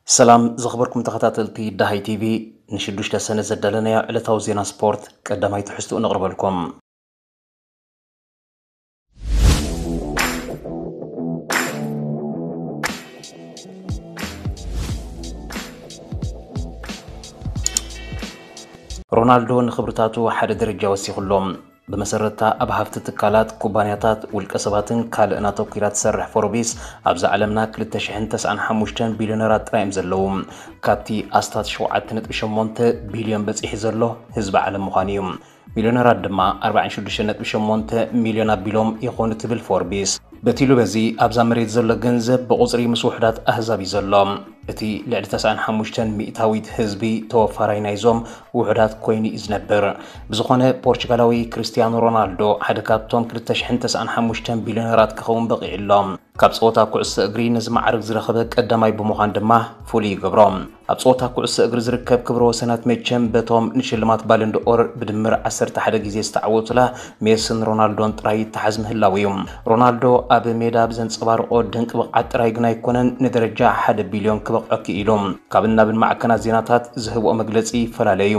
ሰላም ዝኽበርኩም ተኸታተልቲ ዳሃይ ቲቪ፣ ንሽዱሽተ ሰነ ዘዳለናዮ ዕለታዊ ዜና ስፖርት ቀዳማይ ትሕዝትኡ ነቕርበልኩም። ሮናልዶ ንኽብርታቱ ሓደ ደረጃ ወሲኹሎም። ብመሰረትታ ኣብ ሃፍቲ ትካላት፣ ኩባንያታት፣ ውልቀ ሰባትን ካልእን ኣተኲራ ትሰርሕ ፎርቢስ፣ ኣብዛ ዓለምና ክልተ ሽሕን ተስዓን ሓሙሽተን ቢልዮነራት ጥራይ እዮም ዘለዉ። ካብቲ ኣስታት ሸውዓተ ነጥቢ ሸሞንተ ቢልዮን በጺሑ ዘሎ ህዝቢ ዓለም ምዃኑ እዩ። ሚልዮነራት ድማ ኣርባዓን ሽዱሽተ ነጥቢ ሸሞንተ ሚልዮን ኣቢሎም ይኾኑ ትብል ፎርቢስ። በቲ ኢሉ በዚ ኣብዛ መሬት ዘሎ ገንዘብ ብቑጽሪ ምስ ውሑዳት ኣህዛብ እዩ ዘሎ። እቲ ልዕሊ ተስዓን ሓሙሽተን ሚእታዊት ህዝቢ ተወፋራይ ናይዞም ውሑዳት ኮይኑ እዩ ዝነብር። ብዝኾነ ፖርቹጋላዊ ክርስቲያኖ ሮናልዶ ሓደ ካብቶም ክልተ ሽሕን ተስዓን ሓሙሽተን ቢልዮነራት ክኸውን በቒዑ ኣሎ። ካብ ጸወታ ኩዕሶ እግሪ ነዚ ማዕርግ ዝረኸበ ቀዳማይ ብምዃን ድማ ፍሉይ ይገብሮ። ኣብ ጸወታ ኩዕሶ እግሪ ዝርከብ ክብረ ወሰናት መቸም በቶም ንሽልማት ባለንድኦር ብድምር ዓሰርተ ሓደ ግዜ ዝተዓወቱላ ሜስን ሮናልዶን ጥራይ ይተሓዝ ምህላው እዩ። ሮናልዶ ኣብ ሜዳ ብዘንጸባርቆ ድንቂ ብቕዓት ጥራይ ግን ኣይኮነን ንደረጃ ሓደ ቢልዮን ክበቕዖ ክኢሉ። ካብን ናብን ማዕከናት ዜናታት ዝህብኦ መግለጺ ይፈላለ እዩ።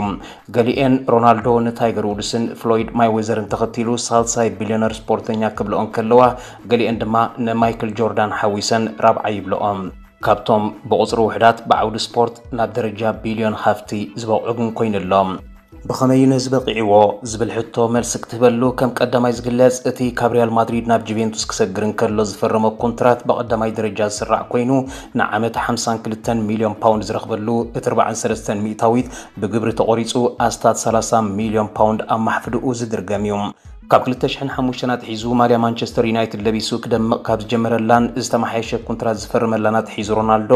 ገሊኤን ሮናልዶ ንታይገር ውድስን ፍሎይድ ማይዌዘርን ተኸቲሉ ሳልሳይ ቢልዮነር ስፖርተኛ ክብልኦ እንከለዋ፣ ገሊኤን ድማ ንማይክል ጆርዳን ሓዊሰን ራብዓይ ይብልኦ። ካብቶም ብቑጽሪ ውሕዳት ብዓውዲ ስፖርት ናብ ደረጃ ቢልዮን ሃፍቲ ዝበቕዑ ግን ኮይኑ ኣሎ። ብኸመይ እዩ ነዚ በቒዕዎ ዝብል ሕቶ መልሲ ክትህበሉ ከም ቀዳማይ ዝግለጽ፣ እቲ ካብ ሪያል ማድሪድ ናብ ጁቬንቱስ ክሰግር እንከሎ ዝፈረሞ ኮንትራት ብቐዳማይ ደረጃ ዝስራዕ ኮይኑ፣ ንዓመት ሓምሳን ክልተን ሚልዮን ፓውንድ ዝረኽበሉ፣ እቲ ኣርባዓን ሰለስተን ሚእታዊት ብግብሪ ተቖሪጹ ኣስታት ሰላሳ ሚልዮን ፓውንድ ኣብ ማሕፍድኡ ዝድርገም እዩ። ካብ ክልተ ሽሕን ሓሙሽተን ኣትሒዙ ማልያ ማንቸስተር ዩናይትድ ለቢሱ ክደምቕ ካብ ዝጀመረላን ዝተመሓየሸ ኮንትራት ዝፈርመላን ኣትሒዙ፣ ሮናልዶ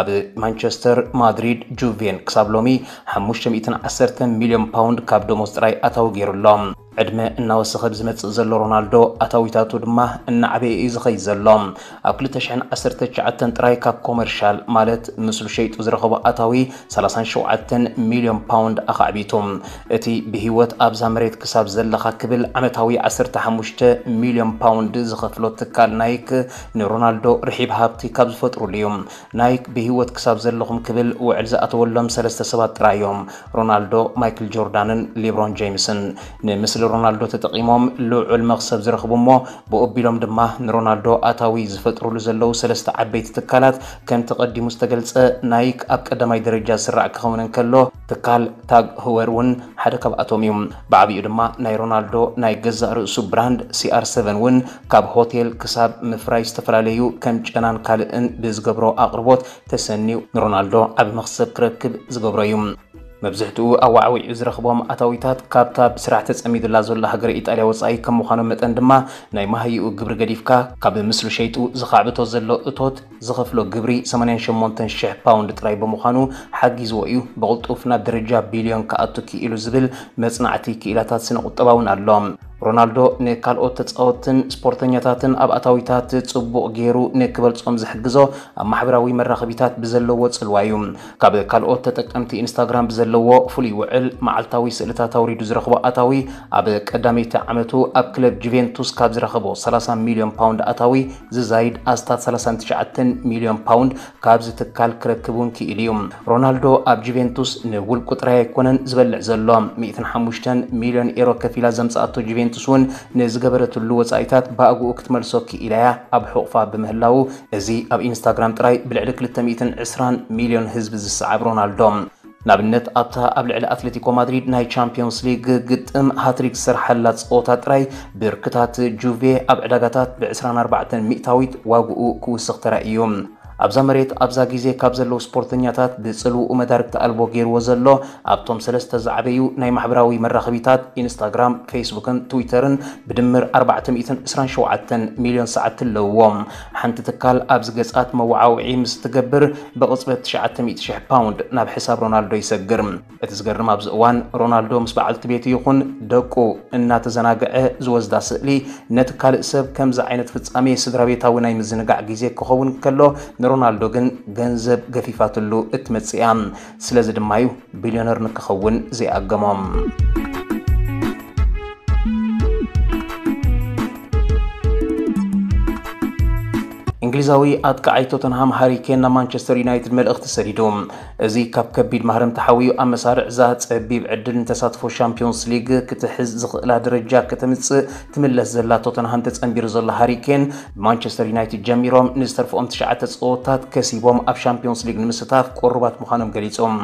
ኣብ ማንቸስተር፣ ማድሪድ፣ ጁቬን ክሳብ ሎሚ ሓሙሽተ ሚእትን ዓሰርተን ሚልዮን ፓውንድ ካብ ደሞዝ ጥራይ ኣታዊ ገይሩ ኣሎ። ዕድመ እናወሰኸ ብዝመጽእ ዘሎ ሮናልዶ ኣታዊታቱ ድማ እናዓበየ እዩ ዝኸይድ ዘሎ። ኣብ ክልተ ሽሕን ዓሰርተ ትሽዓተን ጥራይ ካብ ኮመርሻል ማለት ምስሉ ሸይጡ ዝረኸቦ ኣታዊ ሰላሳን ሸውዓተን ሚልዮን ፓውንድ ኣኻዕቢቱ። እቲ ብህይወት ኣብዛ መሬት ክሳብ ዘለኻ ክብል ዓመታዊ ዓሰርተ ሓሙሽተ ሚልዮን ፓውንድ ዝኸፍሎ ትካል ናይክ ንሮናልዶ ርሒብ ሃብቲ ካብ ዝፈጥሩሉ እዩ። ናይክ ብህይወት ክሳብ ዘለኹም ክብል ውዕል ዝኣተወሎም ሰለስተ ሰባት ጥራይ እዮም፣ ሮናልዶ፣ ማይክል ጆርዳንን ሊብሮን ጄምስን። ንምስሊ ሮናልዶ ተጠቒሞም ልዑል መኽሰብ ዝረኽቡ እሞ ብኡ ኣቢሎም ድማ ንሮናልዶ ኣታዊ ዝፈጥሩሉ ዘለዉ ሰለስተ ዓበይቲ ትካላት፣ ከምቲ ቀዲሙ ዝተገልጸ፣ ናይክ ኣብ ቀዳማይ ደረጃ ዝስራዕ ክኸውን እንከሎ፣ ትካል ታግ ህወር እውን ሓደ ካብኣቶም እዩ። ብዓቢኡ ድማ ናይ ሮናልዶ ናይ ገዛእ ርእሱ ብራንድ ሲኣር ሰቨን እውን ካብ ሆቴል ክሳብ ምፍራይ ዝተፈላለዩ ከም ጨናን ካልእን ብዝገብሮ ኣቕርቦት ተሰንዩ ንሮናልዶ ዓቢ መኽሰብ ክረክብ ዝገብሮ እዩ። መብዝሕትኡ ኣዋዕዊዑ ዝረኽቦም ኣታዊታት ካብታ ብስራሕ ተጸሚዱላ ዘሎ ሃገረ ኢጣልያ ወጻኢ ከም ምዃኖም መጠን ድማ፣ ናይ መሃይኡ ግብሪ ገዲፍካ፣ ካብ ምስሉ ሸይጡ ዝኻዕብቶ ዘሎ እቶት ዝኸፍሎ ግብሪ ሰማንያን ሸሞንተን ሽሕ ፓውንድ ጥራይ ብምዃኑ ሓጊዝዎ እዩ ብቕልጡፍ ናብ ደረጃ ቢልዮን ክኣቱ ክኢሉ ዝብል መጽናዕቲ ክኢላታት ስነ ቁጠባ እውን ኣሎ። ሮናልዶ ንካልኦት ተጻወትትን ስፖርተኛታትን ኣብ ኣታዊታት ጽቡቕ ገይሩ ንክበልጾም ዝሕግዞ ኣብ ማሕበራዊ መራኸቢታት ብዘለዎ ጽልዋ እዩ። ካብ ካልኦት ተጠቀምቲ ኢንስታግራም ብዘለዎ ፍሉይ ውዕል፣ መዓልታዊ ስእልታት ኣውሪዱ ዝረኽቦ ኣታዊ ኣብ ቀዳመይቲ ዓመቱ ኣብ ክለብ ጁቬንቱስ ካብ ዝረኸቦ ሰላሳ ሚልዮን ፓውንድ ኣታዊ ዝዛይድ ኣስታት ሰላሳን ትሽዓተን ሚልዮን ፓውንድ ካብዚ ትካል ክረክብ እውን ክኢሉ እዩ። ሮናልዶ ኣብ ጁቬንቱስ ንውልቁ ጥራይ ኣይኮነን ዝበልዕ ዘሎ። ሚእትን ሓሙሽተን ሚልዮን ኤሮ ከፊላ ዘምጽኣቶ ጁቬንቱስ እውን ንዝገበረትሉ ወጻኢታት ብኣግኡ ክትመልሶ ክኢላ እያ ኣብ ሕቑፋ ብምህላዉ፣ እዚ ኣብ ኢንስታግራም ጥራይ ብልዕሊ ክልተ ሚእትን ዕስራን ሚልዮን ህዝቢ ዝሰዓብ ሮናልዶ፣ ንኣብነት ኣብታ ኣብ ልዕሊ ኣትሌቲኮ ማድሪድ ናይ ቻምፒዮንስ ሊግ ግጥም ሃትሪክ ዝሰርሓላ ጸወታ ጥራይ ብርክታት ጁቬ ኣብ ዕዳጋታት ብዕስራን ኣርባዕተን ሚእታዊት ዋግኡ ክውስኽ ተራእዩ። ኣብዛ መሬት ኣብዛ ግዜ ካብ ዘለዉ ስፖርተኛታት ብጽልውኡ መዳርግቲ ኣልቦ ገይርዎ ዘሎ፣ ኣብቶም ሰለስተ ዝዓበዩ ናይ ማሕበራዊ መራኸቢታት ኢንስታግራም፣ ፌስቡክን ትዊተርን ብድምር ኣርባዕተ ሚእትን ዕስራን ሸውዓተን ሚልዮን ሰዓት ኣለውዎም። ሓንቲ ትካል ኣብዚ ገጻት መወዓውዒ ምስ ትገብር ብቕጽበት ትሽዓተ ሚእቲ ሽሕ ፓውንድ ናብ ሕሳብ ሮናልዶ ይሰግር። እቲ ዝገርም ኣብዚ እዋን ሮናልዶ ምስ በዓልቲ ቤቱ ይኹን ደቁ እናተዘናግዐ ዝወስዳ ስእሊ ነቲ ካልእ ሰብ ከምዚ ዓይነት ፍጻሜ ስድራ ቤታዊ ናይ ምዝንጋዕ ግዜ ክኸውን ከሎ ንሮናልዶ ግን ገንዘብ ገፊፋትሉ እትመጽእ እያ። ስለዚ ድማ እዩ ቢልዮነር ንክኸውን ዘይኣገሞም። እንግሊዛዊ ኣጥቃዓይ ቶተንሃም ሃሪ ኬን ናብ ማንቸስተር ዩናይትድ መልእኽቲ ሰዲዱ። እዚ ካብ ከቢድ ማህረምቲ ሓዊኡ ኣብ መሳርዕ እዛ ጸቢብ ዕድል ንተሳትፎ ሻምፒዮንስ ሊግ ክትሕዝ ዝኽእላ ደረጃ ከተምጽእ ትምለስ ዘላ ቶተንሃም ተጸንቢሩ ዘሎ ሃሪ ኬን፣ ብማንቸስተር ዩናይትድ ጀሚሮም ንዝተርፍኦም ትሽዓተ ጸወታት ከሲቦም ኣብ ሻምፒዮንስ ሊግ ንምስታፍ ቅሩባት ምዃኖም ገሊጾም።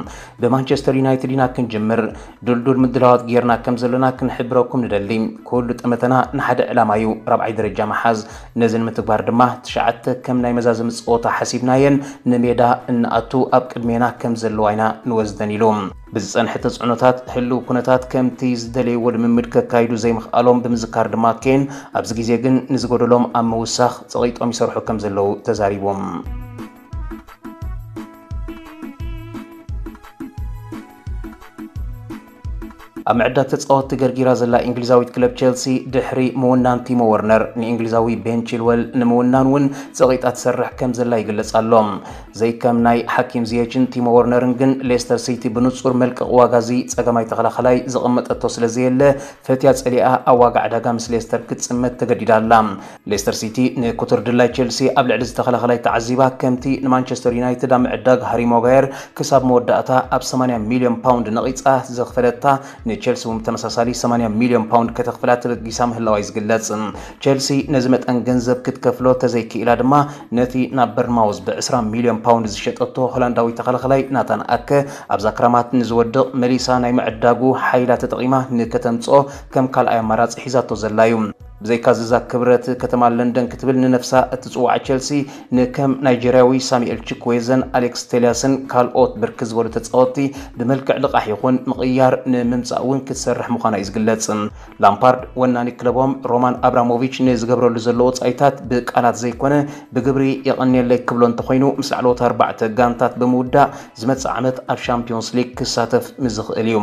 ብማንቸስተር ዩናይትድ ኢና ክንጅምር፣ ድልዱል ምድላዋት ጌርና ከም ዘለና ክንሕብረኩም ንደሊ። ኩሉ ጠመተና ንሓደ ዕላማ እዩ፣ ራብዓይ ደረጃ ምሓዝ። ነዚ ንምትግባር ድማ ትሽዓተ ከም ናይ መዛዘሚ ጸወታ ሓሲብናየን ንሜዳ እንኣቱ ኣብ ቅድሜና ከም ዘለዋ ኢና ንወስደን ኢሉ። ብዝጸንሐ ተጽዕኖታት ህልው ኩነታት ከምቲ ዝደለይዎ ልምምድ ከካይዱ ዘይምኽኣሎም ብምዝካር ድማ ኬን ኣብዚ ግዜ ግን ንዝጎደሎም ኣብ ምውሳኽ ጸቒጦም ይሰርሑ ከም ዘለዉ ተዛሪቦም። ኣብ ምዕዳግ ተጻወትቲ ገርጊራ ዘላ እንግሊዛዊት ክለብ ቸልሲ ድሕሪ ምውናን ቲሞ ወርነር ንእንግሊዛዊ ቤን ቺልወል ንምውናን እውን ጸቒጣ ትሰርሕ ከም ዘላ ይግለጽ ኣሎ። ዘይከም ናይ ሓኪም ዚየችን ቲሞ ወርነርን ግን ሌስተር ሲቲ ብንጹር መልቀቕ ዋጋ እዚ ጸገማይ ተኸላኸላይ ዘቐመጠቶ ስለ ዘየለ ፈትያ ጸሊኣ ኣብ ዋጋ ዕዳጋ ምስ ሌስተር ክትጽመድ ተገዲዳ ኣላ። ሌስተር ሲቲ ንኩቱር ድላይ ቸልሲ ኣብ ልዕሊ ዝተኸላኸላይ ተዓዚባ ከምቲ ንማንቸስተር ዩናይትድ ኣብ ምዕዳግ ሃሪ ማጓየር ክሳብ መወዳእታ ኣብ ሰማንያ ሚልዮን ፓውንድ ነቒጻ ዘኽፈለታ ንቸልሲ እውን ብተመሳሳሊ ሰማንያ ሚልዮን ፓውንድ ከተኽፍላ ተበጊሳ ምህላዋ እዩ ዝግለጽ። ቸልሲ ነዚ መጠን ገንዘብ ክትከፍሎ ተዘይክኢላ ድማ ነቲ ናብ በርንማውዝ ብዕስራ ሚልዮን ፓውንድ ዝሸጠቶ ሆላንዳዊ ተኸላኸላይ ናታን ኣከ ኣብዛ ክራማት ንዝወድቕ መሊሳ ናይ ምዕዳጉ ሓይላ ተጠቒማ ንከተምጽኦ ከም ካልኣይ ኣማራጺ ሒዛቶ ዘላ እዩ። ብዘይካ ዝዛ ክብረት ከተማ ለንደን ክትብል ንነፍሳ እትጽዋዕ ቸልሲ ንከም ናይጀርያዊ ሳሙኤል ችኩዌዘን ኣሌክስ ቴልያስን ካልኦት ብርክ ዝበሉ ተጻወትቲ ብመልክዕ ልቓሕ ይኹን ምቕያር ንምምጻእ እውን ክትሰርሕ ምዃና እዩ ዝግለጽ። ላምፓርድ ወናኒ ክለቦም ሮማን ኣብራሞቪች ንዝገብረሉ ዘሎ ወጻኢታት ብቃላት ዘይኮነ ብግብሪ የቐንየለይ ክብሎ እንተኾይኑ ምስ ላዕለዎት ኣርባዕተ ጋንታት ብምውዳእ ዝመጽእ ዓመት ኣብ ሻምፒዮንስ ሊግ ክሳተፍ ምዝኽእል እዩ።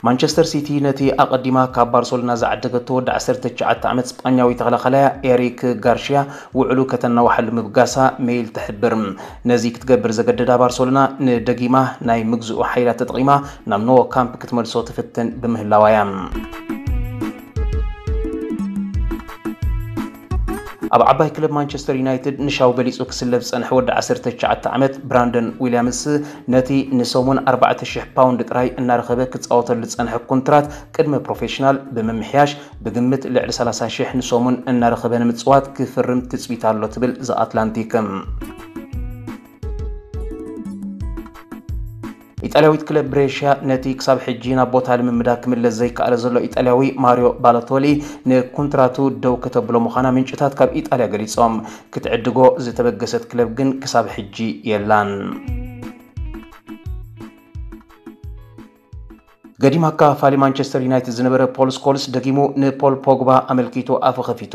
ማንቸስተር ሲቲ ነቲ ኣቐዲማ ካብ ባርሰሎና ዝዓደገቶ ወዲ ዓሰርተ ትሽዓተ ዓመት ስጳኛዊ ተኸላኸላያ ኤሪክ ጋርሽያ ውዕሉ ከተናውሓሉ ምብጋሳ ሜይል ትሕብር። ነዚ ክትገብር ዘገደዳ ባርሰሎና ንደጊማ ናይ ምግዝኡ ሓይላት ተጠቒማ ናብ ኖ ካምፕ ክትመልሶ ትፍትን ብምህላዋ እያ። ኣብ ዓባይ ክለብ ማንቸስተር ዩናይትድ ንሻው በሊጹ ክስለፍ ዝጸንሐ ወዲ ዓሰርተ ትሽዓተ ዓመት ብራንደን ዊልያምስ ነቲ ንሰሙን ኣርባዕተ ሽሕ ፓውንድ ጥራይ እናረኸበ ክጻወተሉ ዝጸንሐ ኮንትራት ቅድመ ፕሮፌሽናል ብምምሕያሽ ብግምት ልዕሊ ሰላሳ ሽሕ ንሰሙን እናረኸበ ንምጽዋት ክፍርም ትጽቢት ኣሎ ትብል ዘ ኣትላንቲክ። ኢጣልያዊት ክለብ ብሬሽያ ነቲ ክሳብ ሕጂ ናብ ቦታ ልምምዳ ክምለስ ዘይከኣለ ዘሎ ኢጣልያዊ ማሪዮ ባሎቶሊ ንኮንትራቱ ደው ከተብሎ ምዃና ምንጭታት ካብ ኢጣልያ ገሊጾም። ክትዕድጎ ዝተበገሰት ክለብ ግን ክሳብ ሕጂ የላን። ገዲም ኣካፋሊ ማንቸስተር ዩናይትድ ዝነበረ ፖል ስኮልስ ደጊሙ ንፖል ፖግባ ኣመልኪቱ ኣፉ ከፊቱ።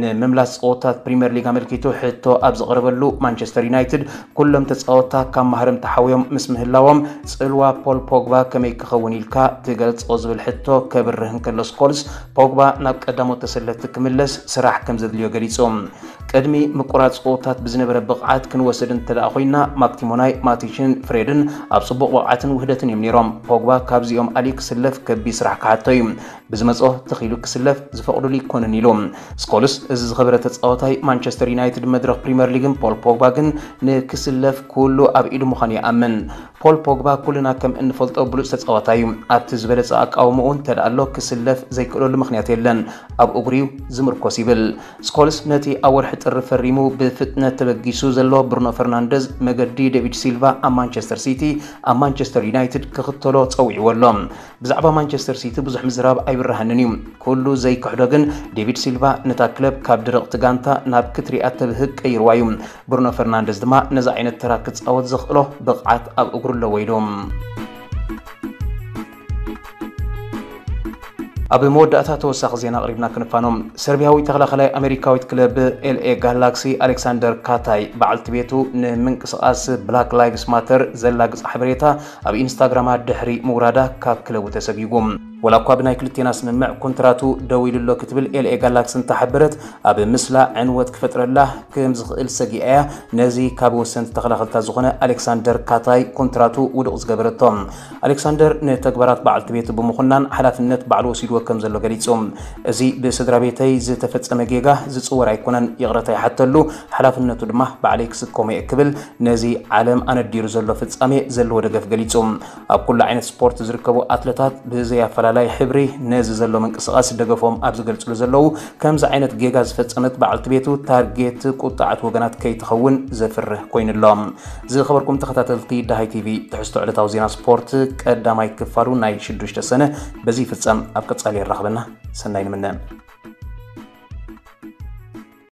ንምምላስ ጸወታት ፕሪምየር ሊግ ኣመልኪቱ ሕቶ ኣብ ዝቐረበሉ ማንቸስተር ዩናይትድ ኩሎም ተጻወትታ ካብ ማህረም ተሓውዮም ምስ ምህላዎም ጽልዋ ፖል ፖግባ ከመይ ክኸውን ኢልካ ትገልጾ ዝብል ሕቶ ከብርህ እንከሎ ስኮልስ ፖግባ ናብ ቀዳሞት ተሰለፍቲ ክምለስ ስራሕ ከም ዘድልዮ ገሊጹ። ቅድሚ ምቁራጽ ጸወታት ብዝነበረ ብቕዓት ክንወስድ እንተ ደኣ ኮይና ማክቲሞናይ፣ ማቲችን፣ ፍሬድን ኣብ ጽቡቕ ብቕዓትን ውህደትን እዮም ነይሮም። ፖግባ ካብዚኦም ኣልዩ ክስለፍ ከቢድ ስራሕ ክሓቶ እዩ። ብዝመጾ ተኺሉ ክስለፍ ዝፈቕዱሉ ኣይኮነን ኢሉ። ስኮልስ እዚ ዝኸበረ ተጻዋታይ ማንቸስተር ዩናይትድ መድረኽ ፕሪምየር ሊግን ፖል ፖግባ ግን ንክስለፍ ኩሉ ኣብ ኢዱ ምዃኑ ይኣምን። ፖል ፖግባ ኩልና ከም እንፈልጦ ብሉጽ ተጻዋታይ እዩ። ኣብቲ ዝበለጸ ኣቃውምኡ እንተ ደኣ ኣሎ ክስለፍ ዘይክእለሉ ምኽንያት የለን። ኣብ እግሩ እዩ ዝምርኮስ ይብል። ስኮልስ ነቲ ኣብ ወርሒ ጥሪ ፈሪሙ ብፍጥነት ተበጊሱ ዘሎ ብሩኖ ፈርናንደዝ መገዲ ዴቪድ ሲልቫ ኣብ ማንቸስተር ሲቲ ኣብ ማንቸስተር ዩናይትድ ክኽተሎ ጸዊዕዎ ኣሎ። ብዛዕባ ማንቸስተር ሲቲ ብዙሕ ምዝራብ ኣይብርሃንን እዩ። ኩሉ ዘይክሕዶ ግን ዴቪድ ሲልቫ ነታ ክለብ ካብ ድርቕቲ ጋንታ ናብ ክትሪኣ ተብህግ ቀይርዋ እዩ። ብሩኖ ፈርናንደዝ ድማ ነዚ ዓይነት ተራ ክጻወት ዘኽእሎ ብቕዓት ኣብ እግሩ ኣለዎ ኢሉ። ኣብ መወዳእታ ተወሳኺ ዜና ኣቕሪብና ክንፋኖም። ሰርቢያዊ ተኸላኸላይ ኣሜሪካዊት ክለብ ኤልኤ ጋላክሲ ኣሌክሳንደር ካታይ በዓልቲ ቤቱ ንምንቅስቓስ ብላክ ላይቭስ ማተር ዘላግጽ ሓበሬታ ኣብ ኢንስታግራማ ድሕሪ ምውራዳ ካብ ክለቡ ተሰጊጉ። ወላ እኳ ብናይ ክልቴና ስምምዕ ኮንትራቱ ደው ኢሉ ኣሎ ክትብል ኤልኤ ጋላክሲ እንተሓበረት፣ ኣብ ምስላ ዕንወት ክፈጥረላ ከም ዝኽእል ሰጊኣ እያ ነዚ ካብ ወሰንቲ ተኸላኸልታ ዝኾነ ኣሌክሳንደር ካታይ ኮንትራቱ ውዱቕ ዝገበረቶ። ኣሌክሳንደር ንተግባራት በዓልቲ ቤቱ ብምኹናን ሓላፍነት ባዕሉ ወሲድዎ ከም ዘሎ ገሊጹ። እዚ ብስድራ ቤተይ ዝተፈጸመ ጌጋ ዝጽወር ኣይኮነን፣ ይቕረታ ይሓተሉ፣ ሓላፍነቱ ድማ ባዕለይ ክስከሞ እየ ክብል ነዚ ዓለም ኣነዲሩ ዘሎ ፍጻሜ ዘለዎ ደገፍ ገሊጹ። ኣብ ኩሉ ዓይነት ስፖርት ዝርከቡ ኣትለታት ብዘይ ኣፈላላይ ሕብሪ ነዚ ዘሎ ምንቅስቓስ ደገፎም ኣብ ዝገልጽሉ ዘለዉ፣ ከምዚ ዓይነት ጌጋ ዝፈጸመት በዓልቲ ቤቱ ታርጌት ቁጣዓት ወገናት ከይትኸውን ዘፍርህ ኮይኑሎ። ዝኸበርኩም ተኸታተልቲ ዳሃይ ቲቪ፣ ትሕዝቶ ዕለታዊ ዜና ስፖርት ቀዳማይ ክፋሉ ናይ ሽዱሽተ ሰነ በዚ ይፍጸም። ኣብ ቀጻሊ የራኽበና። ሰናይ ንምነ።